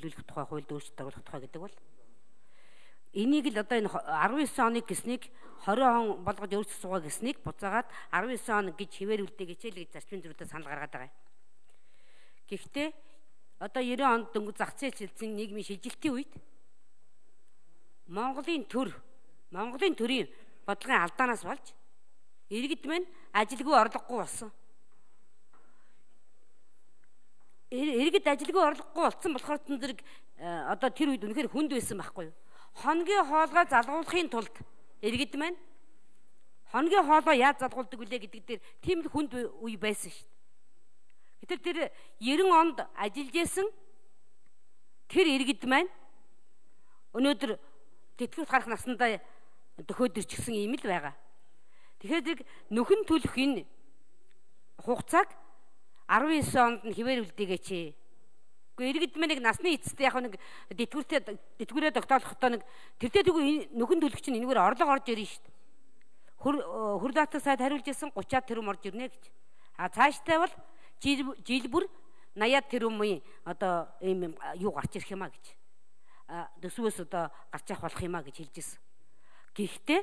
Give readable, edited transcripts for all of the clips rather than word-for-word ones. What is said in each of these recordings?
чөлөөлөх тухай хуульд өөрчлөлт оруулах тухай гэдэг бол энийг л одоо энэ 19 оныг гэснийг 20 он болгож өөрчлөж суугаа гэснийг буцаагаад 19 он гэж хിവэрүүлдэг хичээл гэж зарчмын зөрүүдэд санал гаргаад байгаа юм. Гэхдээ одоо 90 онд дөнгөж зах зээл шилжсэн нийгмийн шилжилтийн үед Монголын төрийн бодлогын алдаанаас болж иргэд мань ажилгүй орлогогүй болсон. Иргэд ажилгүй орлогогүй болсон болохоор зэрэг одоо тэр үед үнэхээр хүнд байсан байхгүй юу? Хоногийн хоолгой залгуулахын тулд иргэд мань хоногийн хоолой яаж залгуулдаг вүлээ гэдэг дээр тийм л хүнд үе байсан шүү дээ. Гэтэл тэр 90 онд ажиллаж исэн тэр иргэд маань өнөөдөр тэтгэврт гарах насандаа дөхөөд ирчихсэн юм л байгаа. Тэгэхээр нөхөн төлөх энэ хугацааг 19 онд нь хിവэрүүлдэгээч. Гэхдээ иргэд маань нэг насны эцэстээ яг нэг тэтгэврээ тогтоолохдоо нэг тэртээ тэгвэл нөхөн төлөх чинь энэгээр орлого орж ирнэ шүү дээ. Хөр даатгал сайд хариулж ирсэн 30-аад тэрбум орж ирнэ гэж. А цааштай бол жил бүр 80-аад тэрбумын одоо ийм юу гарч ирэх юмаа гэж. Төсвөөс одоо гарч явах болох юмаа гэж хэлж ирсэн. Гэхдээ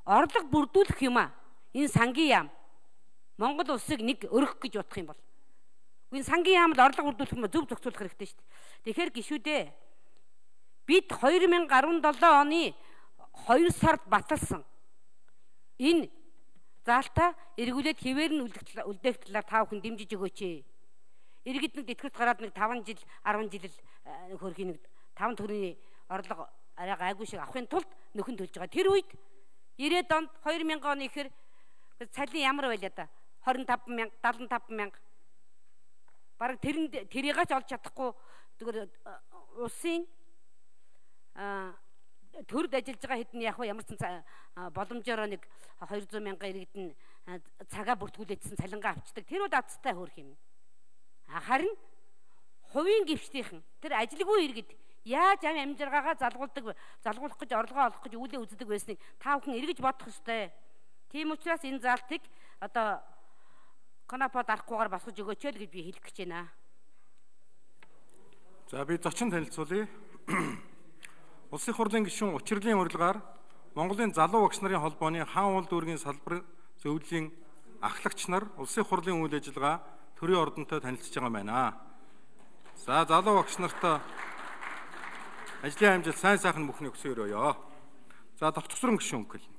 орлого бүрдүүлэх юмаа энэ сангийн яам Монгол улсыг нэг өргөх гэж бодох юм бол энэ сангийн яамд орлого бүрдүүлэх юм зөв зохицуулах хэрэгтэй шүү дээ. Тэгэхээр гишүүдээ бид 2017 оны 2 сард баталсан энэ заалтаа эргүүлээд хിവэр нь үлдээх талаар та бүхэн дэмжиж өгөөч. Иргэд нэг тэтгэврт гараад нэг 5 жил 10 жил хөрхийн нэг 5 төгрөгийн орлого арай гайгүй шиг авахын тулд нөхөн төлж байгаа. Тэр үед 90-ад онд 2000 оны ихэр цалин ямар байлаа да? 25,000, 75,000. Бараг тэрийг ч олж чадахгүй зүгээр улсын төрд ажиллаж байгаа хэдэн яг ямар ч боломжоор нэг 200,000 иргэд нь цагаа бүртгүүлээдсэн цалингаа авчдаг. Тэр бол азтай хөөх юм. Харин хувийн гишүүдийнхэн тэр ажилгүй иргэд яаж амжиргаагаа залгуулах гэж орлогоо олох гэж үүлээ үздэг байсныг та бүхэн эргэж бодох ёстой. Тийм учраас энэ заалтыг одоо конопод арахгүйгээр босгож өгөөч л гэж би хэлэх гэж байна. За би зочин танилцуулъя. Улсын хурлын гишүүн учрлын урилгаар Монголын залуу багш нарын холбооны хаан уул дүүргийн салбар зөвлөлийн ахлагч нар улсын хурлын үйл ажиллагаа төрийн ордонтой танилцж байгаа юм байна. За залуу багш нартай ажлын амжилт сайн сайхан бүхний өсөөрөөё. За товчсрон гишүүн хэл.